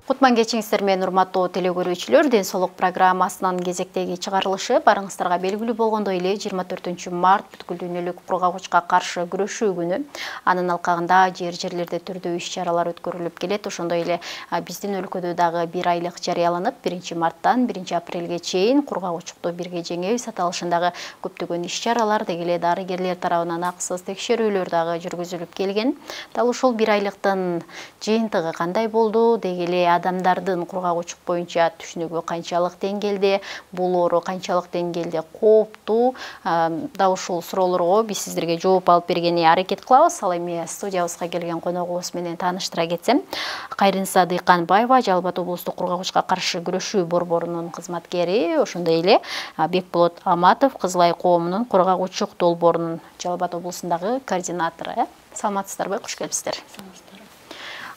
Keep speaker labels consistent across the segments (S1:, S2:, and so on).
S1: Кутман кечиңиздер менен урматтуу теле көрүүчүлөр, Ден соолук программасынын кезектеги чыгарылышы барыңыздарга белгилүү болгондой эле 24-март бүткүл дүйнөлүк кургагычка каршы күрөшүү күнү. Анын алкагында жерлерде түрдүү иш-чаралар өткөрүлүп келет. Ошондой эле биздин өлкөдө дагы 1 айлык жарыяланып, 1-марттан 1-апрелге чейин кургагычтыкты бирге жеңебиз аталышындагы көптөгөн иш-чаралар деги эле дарыгерлер тарабынан акысыз текшерүүлөр дагы жүргүзүлүп келген. Дал ушул 1 айлыктын жыйынтыгы кандай болду деги эле адамдардын кургагычтык боюнча түшүнүгү канчалык деңгээлде, бул оору канчалык деңгээлде кооптуу, да ушул суроолорго биз сиздерге жооп алып бергени аракет кылабыз. Ал эми студиябызга келген коногубуз менен тааныштыра кетсем, Кайрынса Дыйканбаева Жалал Абад облустук кургагычка каршы күрөшүү борборунун кызматкери, ошондой эле Бекболот Аматов Кызыл Ай коомунун кургагычтык долбоорунун Жалал Абад облусундагы координатору. Саламатсыздарбы, куш келипсиздер.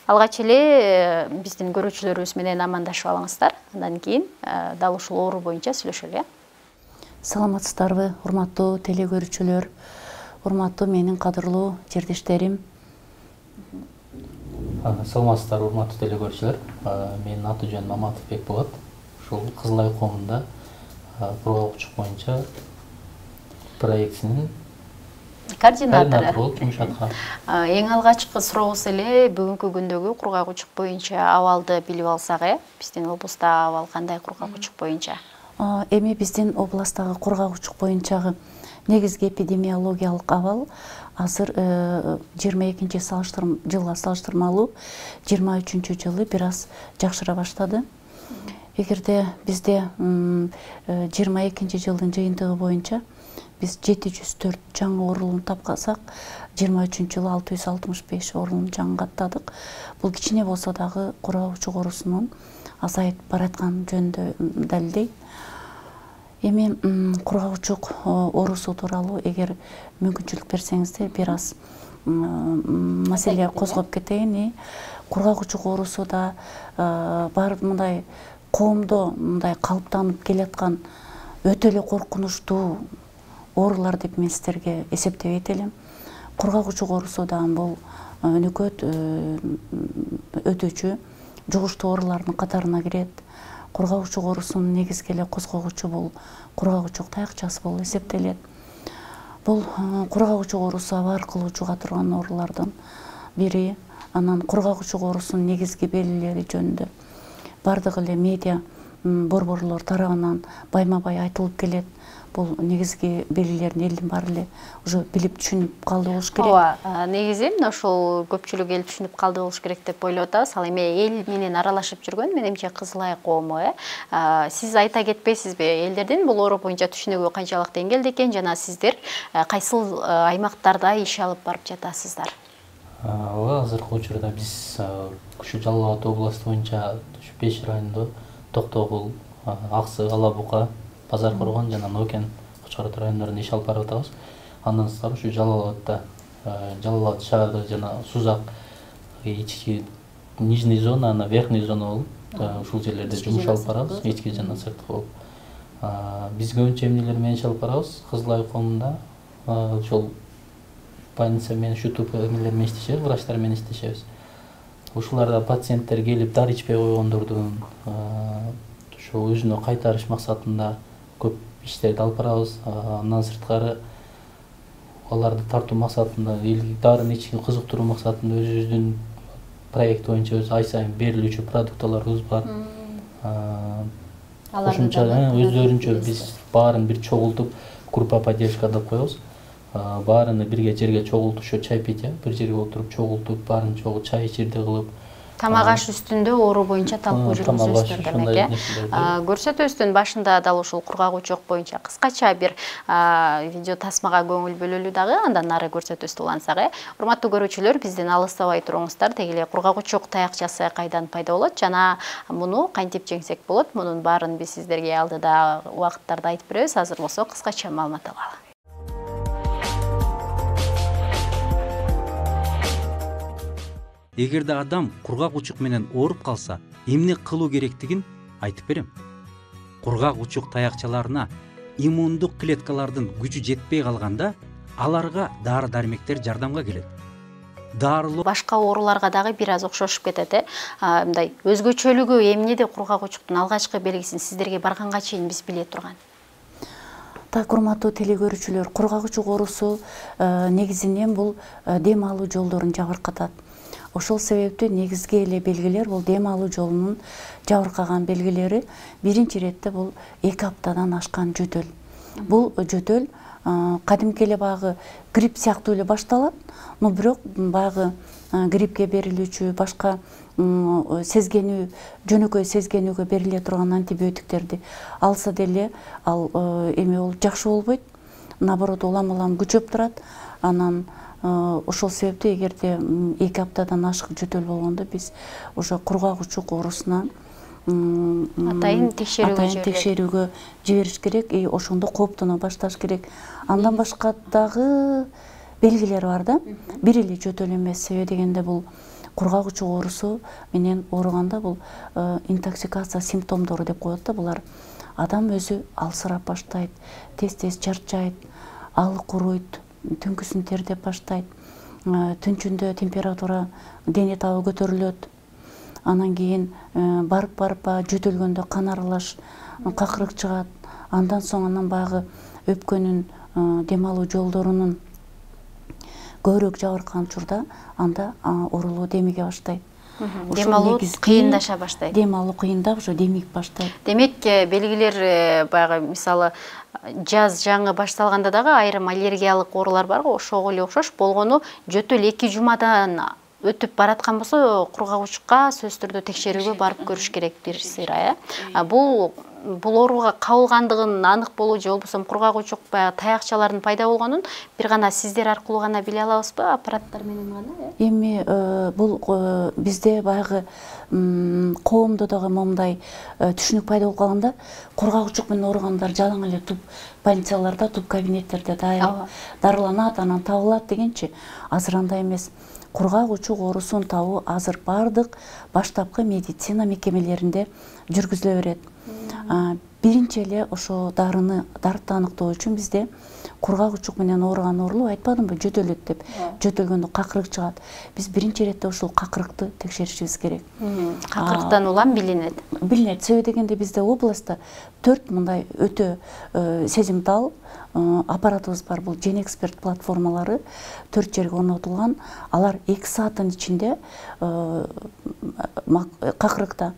S1: Алгач эле биздин көрүүчүлөрүбүз менен амандашып алыңыздар. Андан кийин дал ушул оору боюнча сүйлөшөлү.
S2: Саламатсыздарбы, урматтуу теле көрүүчүлөр, урматтуу менин кадырлуу жердештерим.
S3: Саламатсыздар, урматтуу теле көрүүчүлөр. Менин аты жөнүм Аматов Бекболот. Ушул Кызыл Ай коомунда кургагычтык боюнча проектинин координатору болуп жумуш аткарам.
S1: Эң алгачкы сурообуз эле бүгүнкү күндөгү кургагычтык боюнча абалды билип алсак, биздин облуста абал кандай кургагычтык боюнча?
S2: Эми биздин областагы кургагычтык боюнчагы негизги эпидемиологиялык абал азыр 22-жылга салыштырмалуу 23-жылы бир аз жакшыра баштады. Эгерде бизде 22-жылдын жыйынтыгы боюнча биз 704 жаңы оорулууну тапкансак, 23-жылы 665 оорулууну жаңгаттадык. Бул кичине болсо дагы кургагычтык оорусунун азайып бараткан жөнүндө далилдейт. Эми кургагычтык оорусу тууралуу эгер мүмкүнчүлүк берсеңиздер бир аз маселе козгоп кетейин. Кургагычтык оорусу да бар мындай коомдо мындай калыптанып келаткан өтө эле коркунучтуу оорулар деп мен сиздерге эсептебейт элем. Кургагычтык оорусу дагы бул өнөкөт өтүүчү жугуштуу оорулардын катарына кирет. Кургагычтык оорусунун негизги эле козгогучу бул кургагычтык таякчасы болуп эсептелет. Бул кургагычтык оорусу аба аркылуу жуга турган оорулардын бири. Анан кургагычтык оорусунун негизги белгилери жөнүндө бардык эле медиа борборлор тарабынан байма-бай айтылып келет. Бул негизги белгилерин элдин баары эле уже билип түшүнүп калды болуш керек.
S1: Ооба, негизи мына ошол көпчүлүк эл түшүнүп калды болуш керек деп ойлоп атабыз. Ал эми эл менен аралашып жүргөн менимче Кызыл Ай коому, сиз айта кетпейсизби, элдердин бул оору боюнча түшүнүгү канчалык деңгээлде экен жана сиздер кайсыл аймактарда иш алып барып жатасыздар?
S3: Ооба, азыркы учурда биз ушу Жалал Абад областы боюнча 5 райондо Токтогул, Аксы, Ала Бука, Базар Коргон жана Нокен Кочкорот райондорунда иш алып барып атабыз. Андан сырткары ушу Жалал Абад шаардык жана Сузак ички нижний зона, ана верхний зона болуп, ушул жерлерде жумуш алып барабыз, ички жана сырткы болуп. Биз көбүнчө эмнелер менен иш алып барабыз? Кызыл Ай коомунда ошол больница менен шутуп эмнелер менен иштешебиз, врачтар менен иштешебиз. Ушуларда пациенттер келип дары ичпей койгондордун ошо өзүнө кайтарыш максатында көп иштерди алып барабыз. Андан сырткары аларды тартуу максатында, дарын ичүүгө кызыктыруу максатында өзүбүздүн проект боюнча ай сайын берилүүчү продукталарыбыз бар. Кошумча өздөрүнчө биз баарын бир чогултуп группа поддержка деп коебуз. Баарыны бирге жерге чогултуп, ошо чай пить, бир жерге отуруп чогултуп, баарын чогултуп чай ичирди кылып,
S1: тамак аш үстүндө оору боюнча талкуу жүргүзөсүздөр демек. Көрсөтүүбүздүн башында дал ушул кургагычтык боюнча кыскача бир видео тасмага көңүл бөлөлү дагы, андан ары көрсөтүүбүздү улантсак. Урматтуу көрүүчүлөр, бизден алыстабай туруңуздар. Деги эле кургагычтык таякчасы кайдан пайда болот жана муну кантип жеңсек болот? Мунун баарын биз сиздерге алдыда убакыттарда айтып беребиз. Азыр болсо кыскача маалымат алалы.
S4: Эгерде адам кургагычтык менен ооруп калса, эмне кылуу керектигин айтып берем. Кургагычтык таякчаларына иммундук клеткалардын күчү жетпей калганда, аларга дары-дармектер жардамга келет. дарылоо
S1: башка ооруларга дагы бир аз окшошуп кетет. Мындай өзгөчөлүгү эмнеде кургак учуктун алгачкы белгисин сиздерге барганга чейин биз биле турган?
S2: Так, урматтуу телекөрүүчүлөр, кургак учук оорусу негизинен бул дем алуу жолдорун жабыркатат. Ошол себептен негизги эле белгилер бул дем алуу жолунун жабыркаган белгилери. Биринчи иретте бул 2 аптадан ашкан жөтөл. Бул жөтөл кадимки эле баягы грипп сыяктуу эле башталат, но бирок баягы гриппке берилүүчү башка сезгенүү, жөнөкөй сезгенүүгө бериле турган антибиотиктерди алса деле ал эме болуп жакшы болбойт. Наоборот, улам күчөп турат. Анан ошол себептен эгерде 2 аптадан ашык жөтөл болгондо биз ошо кургак учук оорусуна атайын текшерүүгө жибериш керек, ошондо кооптоно башташ керек. Андан башка дагы белгилер бар да. Бир эле жөтөл эмес, себеби дегенде бул кургак учук оорусу менен ооруганда бул интоксикация симптомдору деп коет да. Булар адам өзү алсырап баштайт, тез чарчайт, алы куруйт, түнкүсүн тердеп баштайт, түнчүндө температура дене табы көтөрүлөт. Анан кийин барып жөтөлгөндө кан аралаш, какырык чыгат. Андан соң баягы өпкөнүн дем алуу жолдорунун көбүрөөк жабыркаган учурда анда оорулуу демиге баштайт.
S1: Дем алуу кыйындаша баштайт.
S2: Дем алуу кыйындап ошо демик баштайт.
S1: Демек, белгилер баягы мисалы жаз жаңы башталганда дагы айрым аллергиялык оорулар бар го, ошого эле окшош болгону жөтөл 2 жумадан өтүп бараткан болсо кургак учукка сөзсүз түрдө текшерүүгө барып көрүш керек бир сыйра. Бул ооруга кабылгандыгын анык болуу же болбосо кургак учук баягы таякчалардын пайда болгонун бир гана сиздер аркылуу гана биле алабызбы, аппараттар менен гана?
S2: Эми бул бизде баягы коомдо дагы момундай түшүнүк пайда болуп калганда, кургак учук менен ооругандар жалаң эле туп больницаларда, туп кабинеттерде дарыланат, анан табылат дегенчи. Азыр андай эмес. Кургак учук оорусун табуу азыр бардык баштапкы медицина мекемелеринде жүргүзүлө берет. Биринчи эле ошо дарыны аныктоо үчүн бизде кургак учук менен ооруган оорулуу айтпадымбы, жөтөлөт деп. Жөтөлгөндө какырык чыгат. Биз биринчи иретте ушул какырыкты текшеришибиз керек.
S1: Какырыктан улам билинет.
S2: Билинет. Себеби дегенде бизде областта 4 мындай өтө сезимтал аппаратыбыз бар. Бул Genexpert платформалары 4 жерге орнотулган. Алар 2 сааттын ичинде какырыкта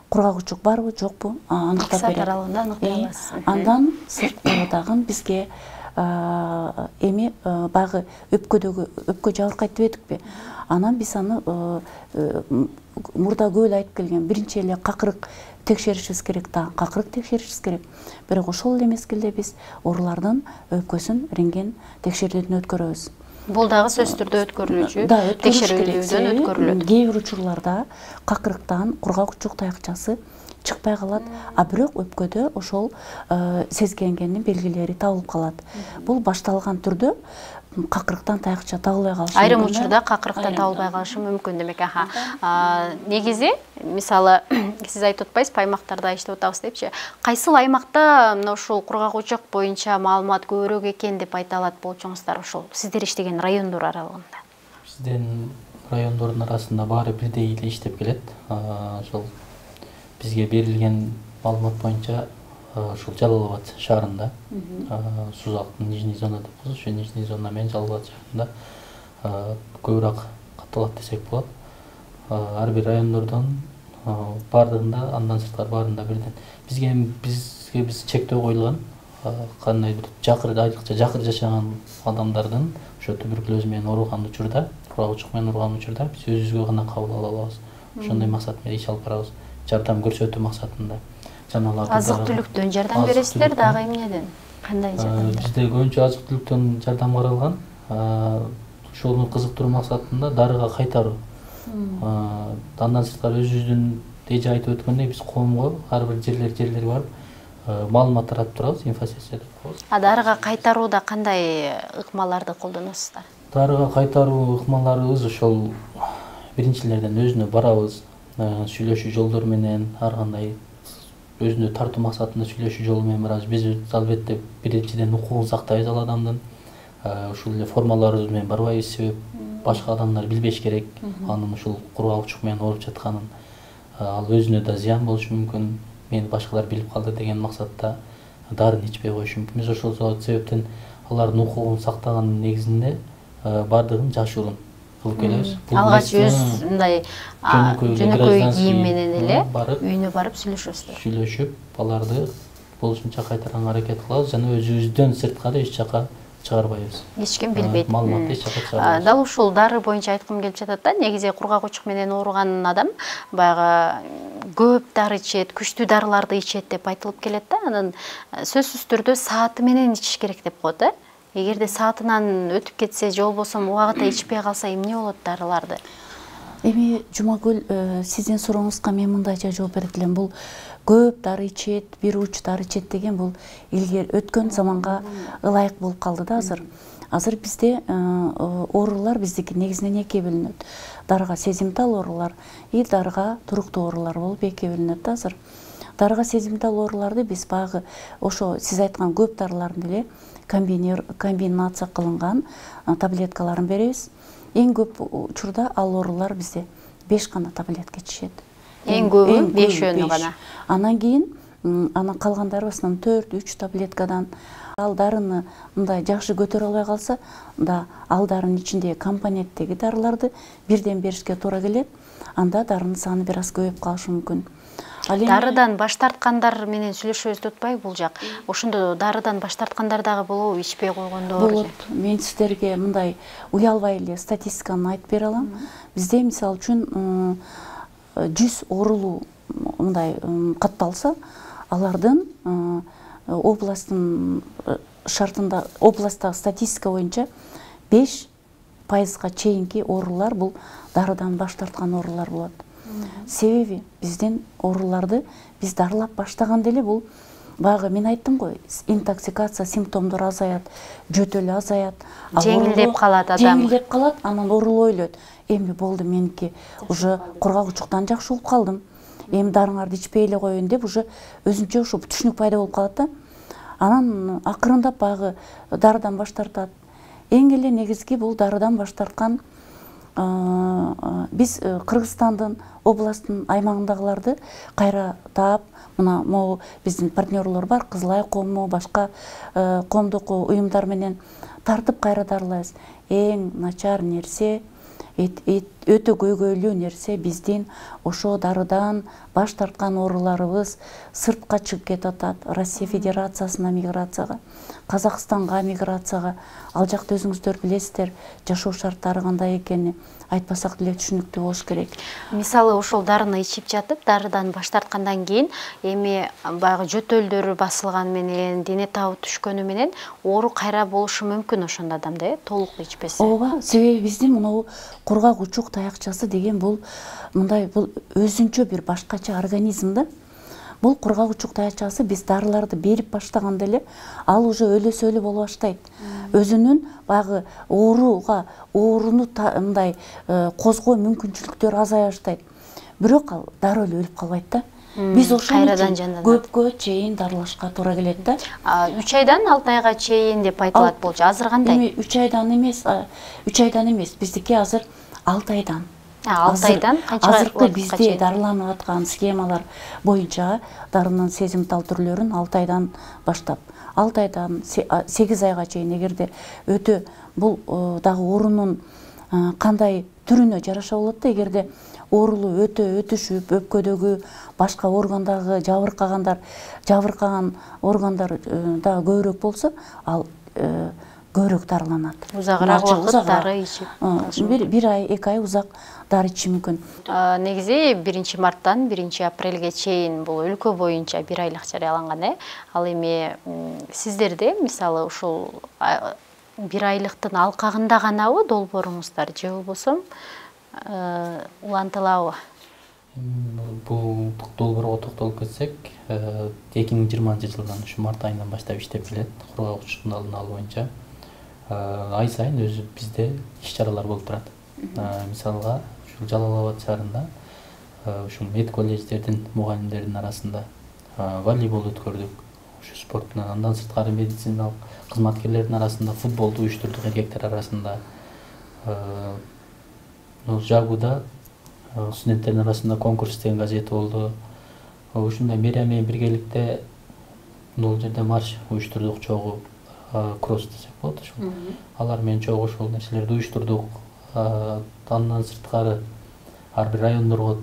S2: кургак учук барбы, жокпу аныктап берет. 2 саат аралыгында аныктай аласыз. Андан сырткары дагы бизге эми баягы өпкө жабыркайт дебедикпи? Анан биз аны мурда көп эле айтып келген. Биринчи эле какырык текшеришибиз керек, какырык текшеришибиз керек. Бирок ошол эле мезгилде биз оорулардын өпкөсүн рентген текшерүүдөн өткөрөбүз.
S1: Бул дагы сөзсүз түрдө өткөрүлүүчү, текшерүүдөн өткөрүлөт.
S2: Кээ бир учурларда какырыктан кургак учук таякчасы чыкпай калат, а бирок өпкөдө ошол сезгенгендин белгилери табылып калат. Бул башталган түрдө какырыктан таякча табылбай калышы мүмкүн.
S1: Айрым учурда какырыктан табылбай калышы мүмкүн демек. Негизи, мисалы, сиз айтып атпайсызбы, аймактарда иштеп атабыз депчи. Кайсыл аймакта мына ушул кургак учук боюнча маалымат көбүрөөк экен деп айта алат болчуңуздар, ошол сиздер иштеген райондор аралыгында?
S3: Биздин райондордун арасында баары бирдей эле иштеп келет. Ошол бизге берилген маалымат боюнча ушул Жалал Абад шаарында, Сузактын нижний зона деп коебуз, ошо нижний зона менен Жалал Абад шаарында көбүрөөк катталат десек болот. Ар бир райондордон бардыгында, андан сырткары баарында бирден. Бизге чектөө коюлган, кандайдыр айрыкча жакыр жашаган адамдардын ошо туберкулез менен ооруган учурда, кургак учук менен ооруган учурда биз өзүбүзгө гана кабыл ала алабыз. Ошондой максат менен иш алып барабыз. Жардам көрсөтүү максатында.
S1: Азык түлүктөн жардам бересиздер, дагы эмнеден? Кандай жардам?
S3: Бизде көбүнчө азык түлүктөн жардам каралган. Ошону кызыктыруу максатында дарыга кайтаруу. Андан сырткары өзүбүздүн эже айтып өткөндөй биз коомго ар бир жерлер барып маалымат таратып турабыз, инфосессия деп коебуз.
S1: Дарыга кайтарууда кандай ыкмаларды колдоносуздар?
S3: Дарыга кайтаруу ыкмаларыбыз ошол биринчилерден өзүнө барабыз, сүйлөшүү жолдору менен, ар кандай өзүнө тартуу максатында сүйлөшүү жолу менен барабыз. Биз албетте биринчиден укугун сактайбыз ал адамдын. Ушул эле формаларыбыз менен барбайбыз, себеп башка адамдар билбеш керек анын ушул кургак учук менен ооруп жатканын. Ал өзүнө да зыян болушу мүмкүн. Мени башкалар билип калды деген максатта дарын ичпей коюшу мүмкүн. Биз ошол себептен алардын укугун сактаганын негизинде бардыгын жашыруун кылып келебиз.
S1: Алгач өз мындай жөнөкөй кийим менен эле үйүнө барып сүйлөшүп, аларды болушунча кайтарганга аракет кылабыз жана өзүбүздөн сыртка да эч жака чыгарбайбыз. Эч ким билбейт.
S3: Маалыматты эч жака чыгарбайбыз.
S1: Дал ушул дары боюнча айткым келип жатат да. Негизи кургак учук менен ооруган адам баягы көп дары ичет, күчтүү дарыларды ичет деп айтылып келет да. Анын сөзсүз түрдө сааты менен ичиш керек деп коет, Эгерде саатынан өтүп кетсе, же болбосо убакытта ичпей калса эмне болот дарыларды?
S2: Эми Жумагүл, сиздин сурооңузга мен мындайча жооп берет элем. Бул көп дары ичет, бир уч дары ичет деген бул илгери өткөн заманга ылайык болуп калды да азыр. Азыр бизде оорулар биздики негизинен экиге бөлүнөт. Дарыга сезимтал оорулар и дарыга туруктуу оорулар болуп экиге бөлүнөт да азыр. Дарыга сезимтал ооруларды биз багы ошо сиз айткан көп дарылардын эле комбинация кылынган таблеткаларын беребиз. Эң көп учурда ал оорулар бизде 5 гана таблетка ичишет.
S1: Эң көбү 5 гана.
S2: Анан кийин анан калгандары басынан 4-3 таблеткадан ал дарыны мындай жакшы көтөрө албай калса, да ал дарынын ичиндеги компоненттеги дарыларды бирден беришке туура келет. Анда дарынын саны бир аз көбөйүп калышы мүмкүн.
S1: Дарыдан баш тарткандар менен сүйлөшөбүз атпайбы бул жак? Ошондо дарыдан баш тарткандар дагы болобу, ичпей койгондор?
S2: Болот. Мен сиздерге мындай уялбай эле статистиканы айтып бере алам. Бизде мисалы үчүн 100 оорулуу мындай катталса, алардын областтын шартында, областтагы статистика боюнча 5%га чейинки оорулар бул дарыдан баш тарткан оорулар болот. Себеби биздин ооруларды биз дарылап баштаганда эле бул багы мен айттым го, интоксикация симптомдору азаят, жөтөл азаят,
S1: жеңилдеп калат адам.
S2: Жеңилдеп калат, анан оорул ойлойт. Эми болду меники уже кургак учуктан жакшы болуп калдым. Эми дарыңарды ичпей эле коеюн деп уже өзүнчө ошо түшүнүк пайда болуп калат да. Анан акырындап багы дарыдан баш тартат. Эң эле негизги бул дарыдан баш тарткан биз Кыргызстандын областтын аймагындагыларды кайра таап, мына могу биздин партнерлор бар, Кызылай коому, башка коомдук уюмдар менен тартып кайра дарылайбыз. Эң начар нерсе, өтө көйгөйлүү нерсе биздин ошо дарыдан баш тарткан ооруларыбыз сыртка чыгып кетип атат. Россия Федерациясына миграцияга, Казакстанга миграцияга. Ал жакта өзүңүздөр билесиздер, жашоо шарттары кандай экени айтпасак деле түшүнүктүү болуш керек.
S1: Мисалы ошол дарыны ичип жатып, дарыдан баш тарткандан кийин эми баягы жөтөлдөр басылган менен, дене табы түшкөнү менен оору кайра болушу мүмкүн ошондо адамда, толук ичпесе.
S2: Ооба, себеби биздин мынау кургак учук таякчасы деген бул мындай бул өзүнчө бир башкача организм да. Бул кургак учук таякчасы биз дарыларды берип баштаганда эле ал уже өлөсөлү боло баштайт. Өзүнүн багы ооруну мындай козгоо мүмкүнчүлүктөрү азая баштайт. Бирок ал дароо эле өлүп калбайт да. Биз ошон үчүн көпкө чейин дарылашка туура келет да.
S1: 3 айдан 6 айга чейин деп айтылат болчу. Азыр кандай?
S2: Эми 3 айдан эмес, биздики азыр 6 айдан.
S1: 6 айдан канчага?
S2: Азыркы бизде дарыланып аткан схемалар боюнча дарынын сезимтал түрлөрүн 6 айдан баштап, 6 айдан 8 айга чейин эгерде өтө бул дагы оорунун кандай түрүнө жараша болот да. Эгерде оорулу өтө өтүшүп, өпкөдөгү башка органдагы жабыркаган органдар дагы көбүрөөк болсо, ал көбүрөөк дарыланат.
S1: Узагыраак убакыт дары ичип.
S2: Бир ай, 2 ай узак дары ичиши мүмкүн.
S1: Негизи 1 марттан 1 апрелге чейин бул өлкө боюнча 1 айлык жарыяланган. Ал эми сиздерде мисалы ушул 1 айлыктын алкагында ганабы долбооруңуздар же болбосо улантылабы?
S3: Бул долбоорго токтолуп кетсек, 2020-жылдан ушу март айынан баштап иштеп келет кургак учуктун алдын алуу боюнча. Ай сайын өзү бизде иш-чаралар болуп турат. Мисалга, ушул Жалал Абад шаарында ушул мед колледждердин мугалимдеринин арасында волейбол өткөрдүк. Ушу спорттун андан сырткары медициналык кызматкерлердин арасында футболду уюштурдук эркектер арасында. Жагуда студенттердин арасында конкурс деген газети болду. Ушундай мейрам менен биргеликте бул жерде марш уюштурдук, чогуу кросс десек болот ошол. Алар менен чогуу ошол нерселерди уюштурдук. Андан сырткары ар бир райондорго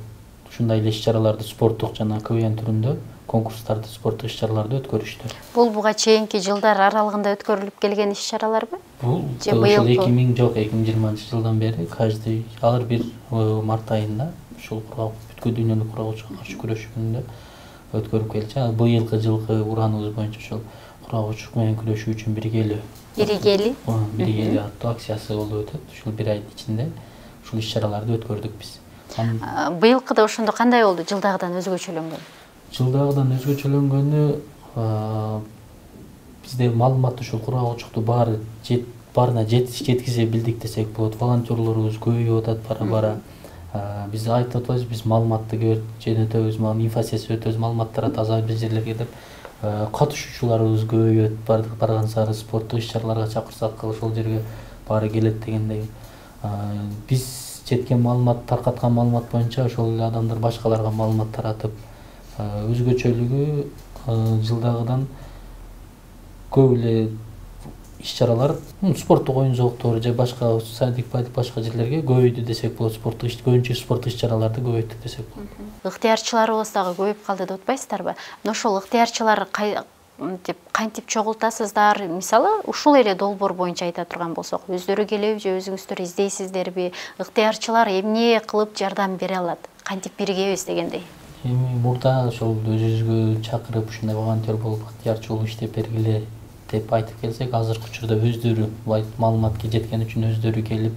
S3: ушундай эле иш-чараларды спорттук жана КВН түрүндө конкурстарды, спорттук иш-чараларды өткөрүштү.
S1: Бул буга чейинки жылдар аралыгында өткөрүлүп келген иш-чараларбы?
S3: Бул ошол 2020 жылдан бери каждый ар бир март айында ушул бүткүл дүйнөлүк кургагычка каршы күрөшүү күнүндө өткөрүп келчү. Быйылкы жылкы урааныбыз боюнча ошол кургагычтык менен күрөшүү үчүн биргели аттуу акциясы болуп өтөт. Ушул бир айдын ичинде ушул иш-чараларды өткөрдүк биз.
S1: Быйылкыда ошондо кандай болду? Жылдагыдан өзгөчөлөнгөн?
S3: Жылдагыдан өзгөчөлөнгөнү бизде маалымат ушул кургагычтыкту баарына жеткизе билдик десек болот. Волонтерлорубуз көбөйүп атат бара-бара. Биз айтып атабыз, биз маалыматты жөнөтөбүз, инфосессия өтөбүз, маалыматтар таза бир жерлерге деп катышуучуларыбыз көбөйүп барган сары спорттук иш-чараларга чакырсак ошол жерге баары келет дегендей. Биз жеткен маалымат, таркаткан маалымат боюнча ошол эле адамдар башкаларга маалымат таратып, өзгөчөлүгү жылдагыдан көп эле иш-чаралар, спорттук оюн зооктору же башка садик-падик башка жерлерге көбөйдү десек болот. Көбүнчө спорттук иш-чараларды көбөйттүк десек болот.
S1: Ыктыярчыларыбыз дагы көбөйүп калды деп атпайсыздарбы? Ошол ыктыярчылар кантип чогултасыздар? Мисалы, ушул эле долбоор боюнча айта турган болсок, өздөрү келеби же өзүңүздөр издейсиздерби? Ыктыярчылар эмне кылып жардам бере алат? Кантип биргебиз дегендей?
S3: Эми мурда ошол өзүбүзгө чакырып ушундай волонтер болуп, ыктыярчы болуп иштеп бергиле деп айтып келсек, азыркы учурда өздөрү маалыматка жеткен үчүн өздөрү келип,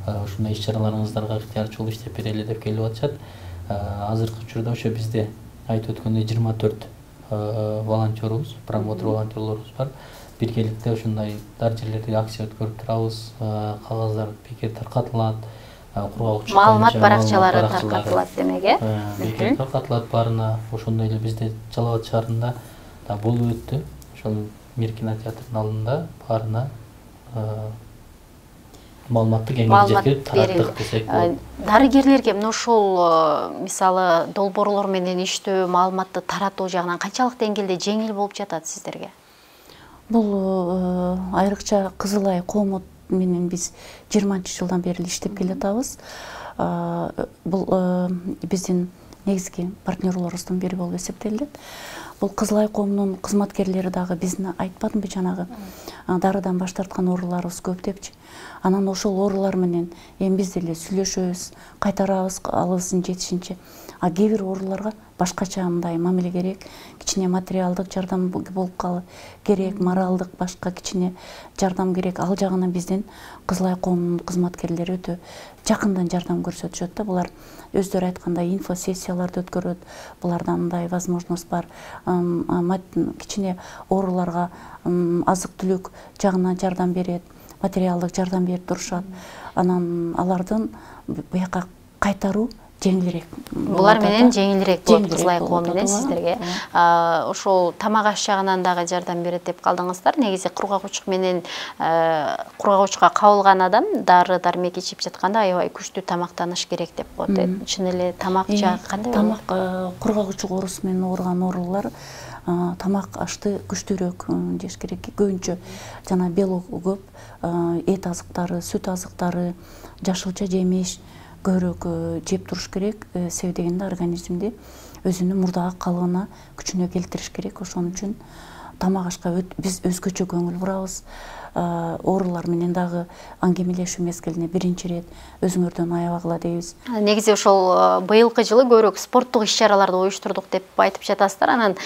S3: ушундай иш-чараларыңыздарга ыктыярчы болуп иштеп берели деп келип атышат. Азыркы учурда ошо бизде айтып өткөндөй 24 волонтерубуз, промоутер волонтерлорубуз бар. Биргеликте ушундай дар жерлерде акция өткөрүп турабыз, кагаздар бекер таркатылат, кургагычтык
S1: маалымат баракчалары таркатылат демек,
S3: бекер таркатылат баарына. Ошондой эле бизде Жалал Абад шаарында да болуп өттү. Ошол Мир кинотеатрынын алдында баарына маалыматты кеңири жеткирип тараттык десек болот.
S1: Дарыгерлерге мына ушул мисалы долбоорлор менен иштөө, маалыматты таратуу жагынан канчалык деңгээлде жеңил болуп жатат сиздерге?
S2: Бул айрыкча Кызыл Ай коому менен биз 20-жылдан бери иштеп келатабыз. Бул биздин негизги партнерлорубуздун бири болуп эсептелет. Бул Кызыл Ай коомунун кызматкерлери дагы биздин айтпадымбы жанагы дарыдан баш тарткан ооруларыбыз көп депчи. Анан ошол оорулар менен эми биз деле сүйлөшөбүз, кайтарабыз алыбыздын жетишинче. Кээ бир ооруларга башкача мындай мамиле керек, кичине материалдык жардам болуп керек, моралдык башка кичине жардам керек. Ал жагынан биздин Кызыл Ай коомунун кызматкерлери өтө жакындан жардам көрсөтүшөт да. Булар өздөрү айткандай инфосессияларды өткөрөт. Буларда мындай возможность бар. Кичине ооруларга азык-түлүк жагынан жардам берет, материалдык жардам берип турушат. Анан алардын буяка кайтаруу жеңилирээк.
S1: Булар менен жеңилирээк болот Кызыл Ай коому менен сиздерге. Ошол тамак аш жагынан дагы жардам берет деп калдыңыздар. Негизи кургагычтык менен кургагычка кабылган адам дары дармек ичип жатканда аябай күчтүү тамактаныш керек деп коет. Чын эле тамак жагы кандай болот?
S2: Тамак кургагычтык оорусу менен ооруган оорулар тамак ашты күчтүүрөөк жеш керек. Көбүнчө жана белок көп, эт азыктары, сүт азыктары, жашылча жемиш көбүрөөк жеп туруш керек. Себеби дегенде организмди өзүнүн мурдагы калыбына күчүнө келтириш керек. Ошон үчүн тамак ашка биз өзгөчө көңүл бурабыз. Оорулар менен дагы аңгемелешүү мезгилине биринчи ирет өзүңөрдөн аябагыла дейбиз.
S1: Негизи ошол быйылкы жылы көбүрөөк спорттук иш-чараларды уюштурдук деп айтып жатасыздар. Анан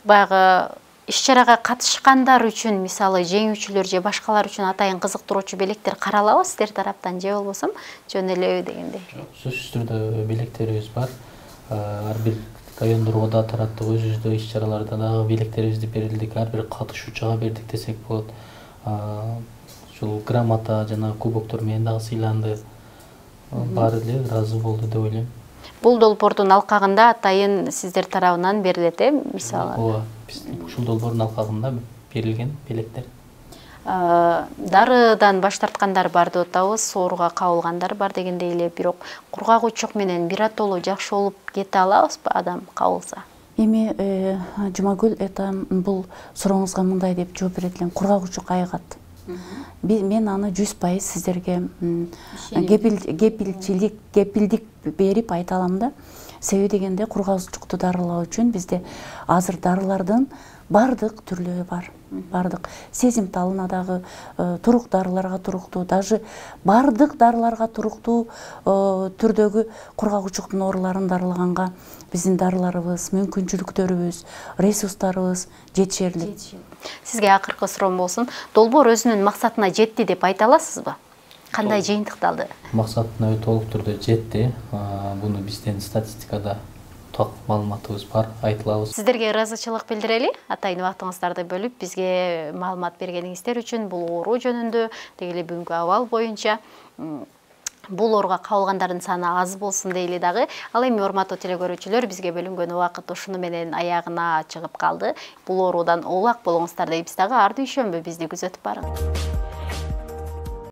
S1: баягы иш-чарага катышкандар үчүн, мисалы жеңүүчүлөр же башкалар үчүн атайын кызыктыруучу белектер каралабы сиздер тараптан же болбосо жөн эле дегендей?
S3: Сөзсүз түрдө белектерибиз бар. Ар бир райондорго да тараттык, өзүбүздө иш-чараларда дагы белектерибизди берилдик, ар бир катышуучуга бердик десек болот. Ушул грамота жана кубоктор менен дагы сыйланды. Баары эле ыраазы болду деп ойлойм.
S1: Бул долбоордун алкагында атайын сиздер тарабынан берилет, мисалы?
S3: Ооба, ушул долбоордун алкагында берилген белектер.
S1: Дарыдан баш тарткандар бар деп атабыз, ооруга кабылгандар бар дегендей эле, бирок кургак учук менен биротоло жакшы болуп кете алабызбы адам кабылса?
S2: Эми Жумагүл бул сурооңузга мындай деп жооп берет элем. Кургак учук айыгат. Мен аны 100% сиздерге кепилдик берип айта алам да. Себеби дегенде кургак учукту дарылоо үчүн бизде азыр дарылардын бардык түрлөрү бар. Бардык сезимталына дагы турук дарыларга туруктуу, даже бардык дарыларга туруктуу түрдөгү кургак учуктун ооруларын дарылаганга биздин дарыларыбыз, мүмкүнчүлүктөрүбүз, ресурстарыбыз жетишерлик.
S1: Сизге акыркы суроом болсун. Долбоор өзүнүн максатына жетти деп айта аласызбы? Кандай жыйынтыкталды?
S3: Максатына толук түрдө жетти. Буну биздин статистикада маалыматыбыз бар, айтылабыз.
S1: Сиздерге ыраазычылык билдирели. Атайын убактыңыздарды бөлүп бизге маалымат бергениңиздер үчүн бул оору жөнүндө, деги эле бүгүнкү абал боюнча. Бул ооруга кабылгандардын саны аз болсун дейли дагы. Ал эми урматтуу телекөрүүчүлөр, бизге бөлүнгөн убакыт ушуну менен аягына чыгып калды. Бул оорудан оолак болуңуздар дейбиз дагы. Ар дүйшөмбү бизди күзөтүп барыңыз.